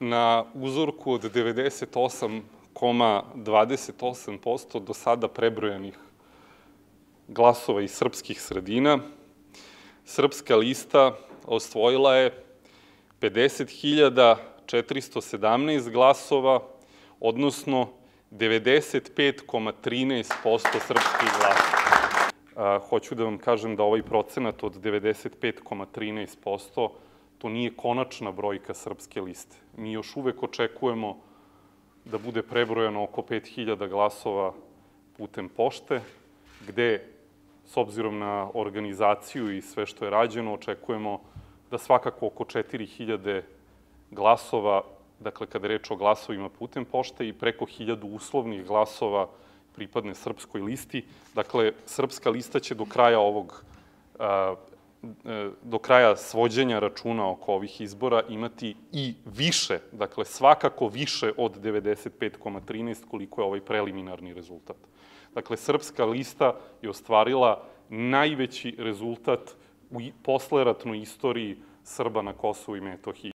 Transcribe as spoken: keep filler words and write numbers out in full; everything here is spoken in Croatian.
na uzorku od devedeset osam zarez dvadeset osam posto do sada prebrojanih glasova iz srpskih sredina, Srpska lista osvojila je pedeset hiljada četiristo sedamnaest glasova, odnosno devedeset pet zarez trinaest posto srpskih glasova. Hoću da vam kažem da ovaj procenat od devedeset pet zarez trinaest posto to nije konačna brojka Srpske liste. Mi još uvek očekujemo da bude prebrojano oko pet hiljada glasova putem pošte, gde, s obzirom na organizaciju i sve što je rađeno, očekujemo da svakako oko četiri hiljade glasova, dakle, kada je reč o glasovima putem pošte, i preko hiljadu uslovnih glasova pripadne Srpskoj listi. Dakle, Srpska lista će do kraja ovog, do kraja svođenja računa oko ovih izbora imati i više, dakle, svakako više od devedeset pet zarez trinaest koliko je ovaj preliminarni rezultat. Dakle, Srpska lista je ostvarila najveći rezultat u posleratnoj istoriji Srba na Kosovu i Metohiji.